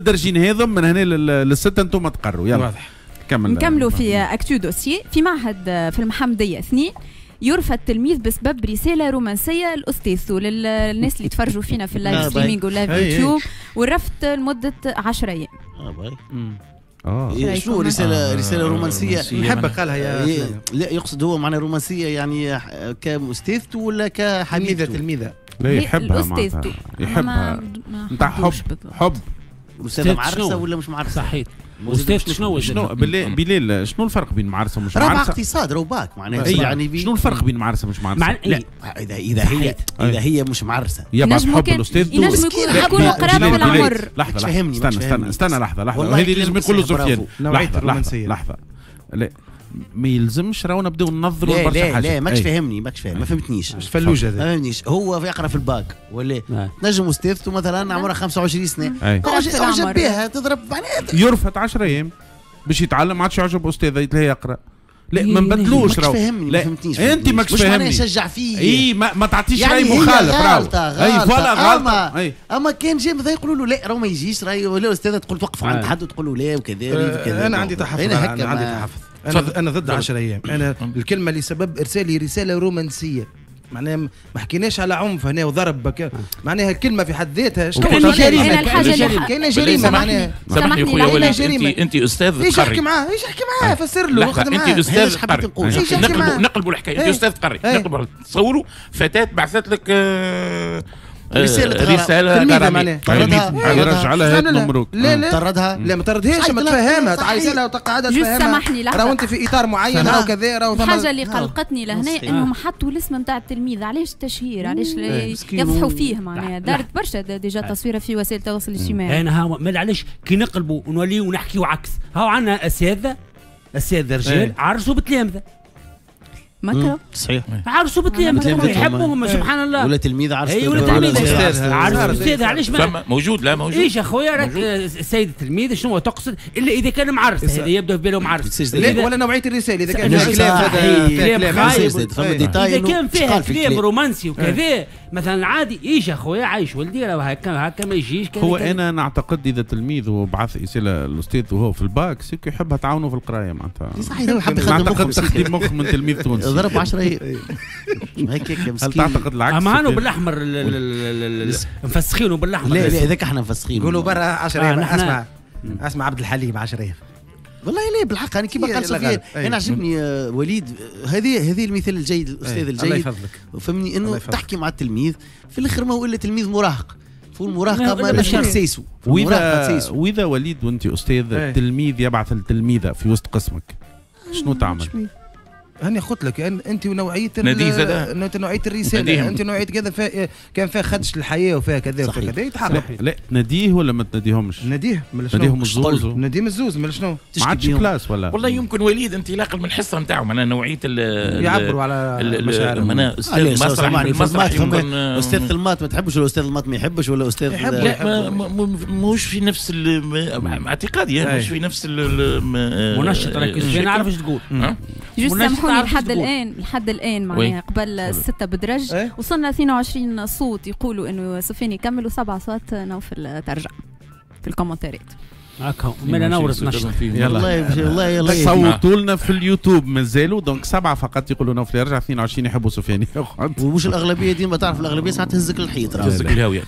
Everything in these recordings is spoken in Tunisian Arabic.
الدرجين هذم من هنا للسته انتم تقروا. يلا واضح. كمل نكملوا في actu dossier. في معهد في المحمدية 2 يرفض التلميذ بسبب رسالة رومانسية لاستاذته. للناس اللي تفرجوا فينا في ال live streaming ولا في يوتيوب، والرفض لمدة 10 ايام. شنو رسالة؟ رسالة رومانسية نحبك قالها يا لا يقصد هو معنى رومانسية يعني كاستاذته ولا كحبيبته؟ تلميذه لا يحبها معناتها، يحبها نتاع حب. حب أستاذة معرسة ولا مش معرسة؟ صحيح. أستاذ شنو بلال شنو الفرق بين معرسة ومش معرسة؟ رابعة اقتصاد روباك معناها يعني شنو الفرق بين معرسة ومش معرسة؟ لا إذا هي مش معرسة يبعث حب الأستاذ ينجم يكونوا قراب في العمر. لحظة لحظة استنى استنى استنى لحظة لحظة، هذه لازم يقولوا سفيان. لحظة لحظة لحظة، لا ما يلزمش راهو نبداو ننظروا برشا حاجات. لا ماكش فاهمني، ماكش فاهم، ما فهمتنيش. فلوجه ما فهمتنيش. هو يقرا في الباك ولا نجم استاذته مثلا عمرها 25 سنة اعجب بها تضرب معناها يرفض 10 ايام باش يتعلم، ما عادش يعجب استاذه يتلهى يقرا. لا ما نبدلوش راهو. ما فهمتنيش انت ماكش فاهمني. مش يشجع فيه. اي ما تعطيش راي مخالف راهو. اي voilà غلطه. اما كان جا مثلا يقولوا له لا راهو ما يجيش، راهي ولا الاستاذة تقول توقفوا عند حد وتقول له لا وكذا وكذا. انا عندي تحفظ، انا عندي تحفظ. انا ضد 10 ايام. انا الكلمة اللي سبب ارسالي رسالة رومانسية معناها ما حكيناش على عنف هنا وضرب، معناها الكلمة في حد ذاتها كاينه جريمة، كاينه جريمة معناها. سامحني خويا وليد، انت استاذ ايش احكي معاه، ايش احكي معاه، فسر له وخدم معاه. انت استاذ قري، نقلبوا الحكاية. انت استاذ قري، نقلبوا. تصوروا فتاة بعثت لك رسالة غرامية، يرجع لها مبروك. لا لا طردها، لا ما طردهاش، ما تفهمها، تعيط لها وتقعدها تفهمها. سامحني لحظة، راهو انت في اطار معين راهو كذا راهو. الحاجة اللي قلقتني لهنا انهم حطوا الاسم نتاع التلميذ، علاش التشهير؟ علاش يفضحوا فيه معناها؟ دارت برشا déjà تصويره في وسائل التواصل الاجتماعي. انا ها ما علاش كي نقلبوا ونوليو ونحكيو عكس. هاو عندنا اساتذة رجال عرسوا بتلامذه. مكره صحيح، عرسوا بتلامذة يحبوهم سبحان الله. ولا تلميذ عرس، ولا تلميذ عرس استاذ. علاش ما موجود؟ لا موجود. ايش اخويا راك السيد التلميذ شنو تقصد؟ الا اذا كان معرس، هذا يبدا في باله معرس. لا ولا نوعية الرسالة اذا كان فيها كلام اذا كان فيها كلام رومانسي وكذا مثلا عادي. ايش اخويا عايش ولدي راه هكا هكا ما يجيش. هو انا نعتقد اذا تلميذ وبعث رسالة للاستاذ وهو في ال bac c'est que يحبها تعاونه في القراية معناتها. صحيح، يحب يخدم مخه، تخديم مخ من تلميذ تونسي. ضرب 10 ايام هكاك مسكين. هل تعتقد العكس؟ اما هانو بالاحمر مفسخينه بالاحمر. لا لا هذاك احنا مفسخينه. قولوا برا 10 ايام. اسمع اسمع عبد الحليم 10 ايام. والله لا بالحق انا كيما قال سفيان انا عجبني وليد هذه المثال الجيد، الاستاذ الجيد. الله يفضلك. فهمني انه تحكي مع التلميذ في الاخر ما هو الا تلميذ مراهق. في المراهقة ما لازم تسيسو. واذا وليد وانت استاذ التلميذ يبعث التلميذة في وسط قسمك شنو تعمل؟ انا قلت لك انت ونوعية انت نوعية الرسالة، انت نوعية كذا، كان فيها خدش الحياة وفيها كذا وفيها كذا يتحرك. لا تناديه ولا ما تناديهمش؟ ناديه. ناديهم الزوز، ناديهم الزوز. من شنو؟ ما عادش classe ولا والله يمكن وليد انطلاقا من الحصة نتاعو معناها نوعية يعبروا على مشاعرهم. معناها استاذ مسرح المسرح يمكن استاذ ال maths ما تحبش ولا استاذ ال maths ما يحبش ولا استاذ لا ماهوش في نفس اعتقادي مش في نفس منشط. راك نعرف اش تقول. سامحوني لحد الان، لحد الان معناها قبل الستة بدرج وصلنا 22 صوت يقولوا انه سفيان يكمل وسبع صوت نوفل ترجع في الكومنتات. هكا مالا نورس نشط. يلا والله يلا صوتوا لنا في اليوتيوب مازالوا donc 7 فقط يقولوا نوفل يرجع، 22 يحبوا سفيان يقعد. ومش الاغلبية ديما تعرف الاغلبية ساعات تهزك للحيط، تهزك للهاويه.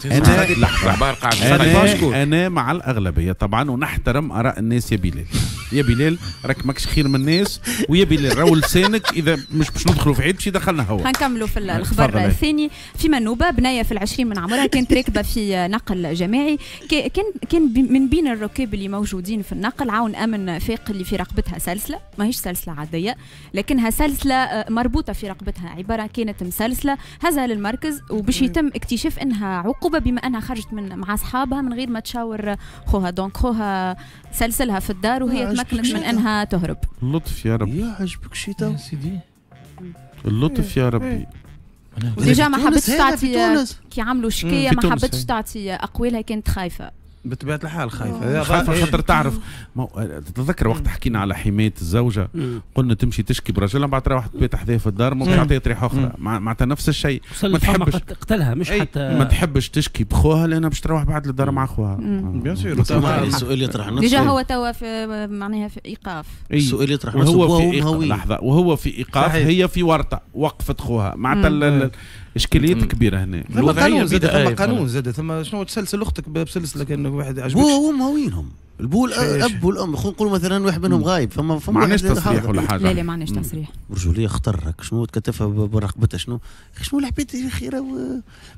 انا مع الاغلبية طبعا ونحترم اراء الناس. يا بلال يا بلال راك ماكش خير من الناس، ويا بلال راهو لسانك اذا مش باش ندخلوا في عيب باش يدخلنا هو. نكملوا في الخبر الثاني. في منوبه بنيه في 20 من عمرها كانت راكبه في نقل جماعي، كان من بين الركاب اللي موجودين في النقل عون امن فاق اللي في رقبتها سلسلة، ماهيش سلسلة عادية لكنها سلسلة مربوطة في رقبتها، عبارة كانت مسلسله، هزها للمركز وباش يتم اكتشاف انها عقوبه بما انها خرجت من مع اصحابها من غير ما تشاور خوها، donc خوها سلسلها في الدار وهي تمكنت من انها تهرب. اللطف يا ربي. يعجبك شي سيدي اللطف يا ربي. déjà ما حبتش تعطي كي عملوا شكاية ما حبتش تعطي اقوالها، كانت خايفة. بطبيعة الحال خايفة، خايفة خاطر تعرف. تتذكر وقت حكينا على حماية الزوجة قلنا تمشي تشكي برجلها بعد تروح تبات حذاه في الدار ممكن تعطيها طريحه اخرى، معناتها نفس الشيء. ما تحبش تقتلها، مش حتى ما تحبش تشكي بخوها لانها باش تروح بعد للدار مع خوها. bien sûr. السؤال يطرح نفسه déjà هو توا في معناها في ايقاف. السؤال يطرح نفسه وهو في لحظة، وهو في ايقاف، هي في ورطة وقفت خوها، معناتها اشكاليات كبيرة هنا. ثم قانون زاد، ثم قانون زاد، ثم شنو تسلسل اختك بسلسلة كان واحد عجبك. بوها وامها وينهم؟ البو الاب والام، خلينا نقولوا مثلا واحد منهم غايب، فما ما عندناش تصريح ولا حاجة. لا لا ما عندناش تصريح. برجولية خطر شنو تكتفها برقبتها، شنو العباد يا اخي،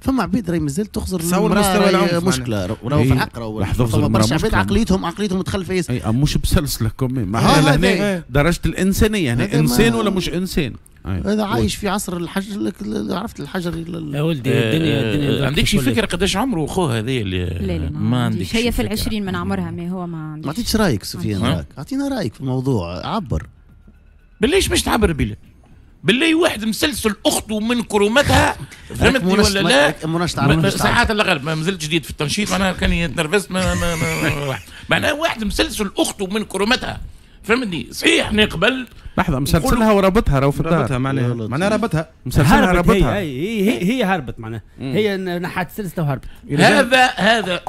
فما عباد راهي مازالت تخزر مستوى مشكلة، راهو في الحق راهو فما برشا عباد عقليتهم متخلفة ياسر. اي مش بسلسلة كمان، معناها هنا درجه الانسانية، هنا انسان ولا مش انسان. هذا عايش في عصر الحجر، عرفت الحجر يا ولدي. الدنيا عندك شي فكرة قداش عمره خوها هذا اللي؟ لا لا ما عنديش. هي في 20 من عمرها، ما هو ما عنديش. ما عطيتش رايك سفيان، راك اعطينا رايك في الموضوع، عبر. بالله باش تعبر بلا بالله واحد مسلسل اخته من كرومتها، فهمتني ولا لا؟ ساعات الله غالب ما زلت جديد في التنشيط، معناها كان يتنرفزت معناها واحد مسلسل اخته من كرومتها، فهمتني؟ صحيح نقبل. لحظة، مسلسلها وربطها راهو في الدار. ربطها معناها ربطها، مسلسلها ربطها. هي هربت معناها، هي نحت سلسلة وهربت. هذا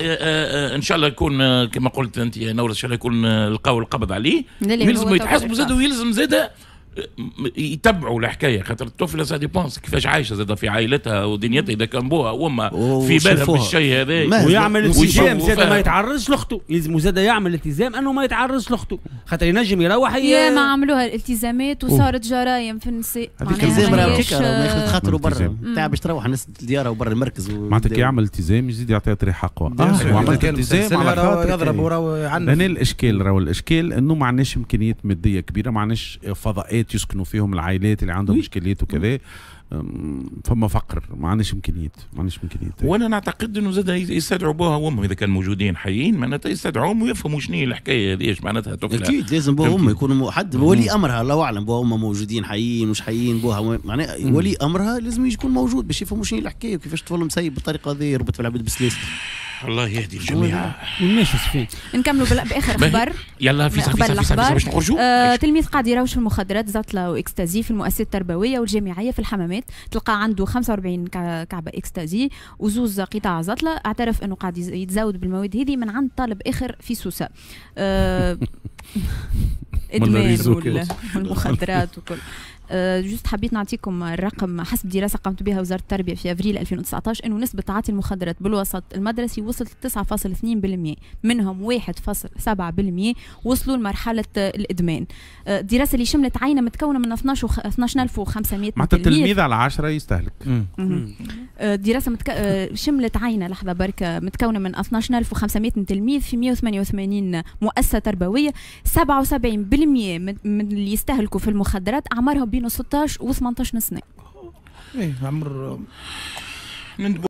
ان شاء الله يكون كما قلت انت يا نور، ان شاء الله يكون لقاو القبض عليه، ويلزم يتحاسبوا زاد، ويلزم زاد يتبعوا الحكاية، خاطر الطفلة ça dépend كيفاش عايشه زاد في عائلتها ودنيتها، اذا كان بوها وامها في بالها بالشيء هذا ويعمل التزام زاد ما يتعرضش لاخته، يلزم زاد يعمل التزام انه ما يتعرضش لاخته، خاطر ينجم يروح. يا ما عملوها الالتزامات وصارت جرايم في النساء. هذيك التزام راه ما ياخذ خاطره برا، تاع باش تروح الناس ديارها وبرا المركز، معناتها كي يعمل التزام يزيد يعطيها طريحه اقوى. وعملت التزام على خاطر يضرب وراه يعنف. هنا الاشكال، راهو الاشكال انه ما عندناش امكانيات مادية كبيرة، ما عندناش فضاءات يسكنوا فيهم العائلات اللي عندهم اشكاليات وكذا، فما فقر، ما عندناش امكانيات، ما عندناش امكانيات. وانا نعتقد انه زاد يستدعوا بوها وامهم اذا كانوا موجودين حيين، معناتها يستدعوهم ويفهموا شنو هي الحكاية هذه، ايش معناتها طفله. اكيد لازم بوها وامها يكونوا حد ولي امرها، الله اعلم بوها وامها موجودين حيين مش حيين، بوها معناها ولي امرها لازم يكون موجود باش يفهموا شنو هي الحكاية وكيفاش طفل مسيب بالطريقة هذه يربط في العباد بسلاسل. الله يهدي الجميع. ماشي سفيان، نكملوا باخر خبر. يلا في في باش نخرجوا. تلميذ قاعد يروش في المخدرات زطله واكستازي في المؤسسات التربوية والجامعيه في الحمامات، تلقى عنده 45 كعبه اكستازي وزوز قطع زطله، اعترف انه قاعد يتزود بالمواد هذه من عند طالب اخر في سوسة. ادمان والمخدرات وكل. juste حبيت نعطيكم الرقم حسب دراسة قامت بها وزارة التربية في افريل 2019 انه نسبه تعاطي المخدرات بالوسط المدرسي وصلت 9.2%، منهم 1.7% وصلوا لمرحلة الادمان. الدراسة اللي شملت عينه متكونه من 12500 معناتها التلميذ على 10 يستهلك. الدراسة شملت عينه لحظة بركة متكونه من 12500 تلميذ في 188 مؤسسة تربوية، 77% من اللي يستهلكوا في المخدرات اعمارهم بين 16 و 18 سنة. ايه عمر.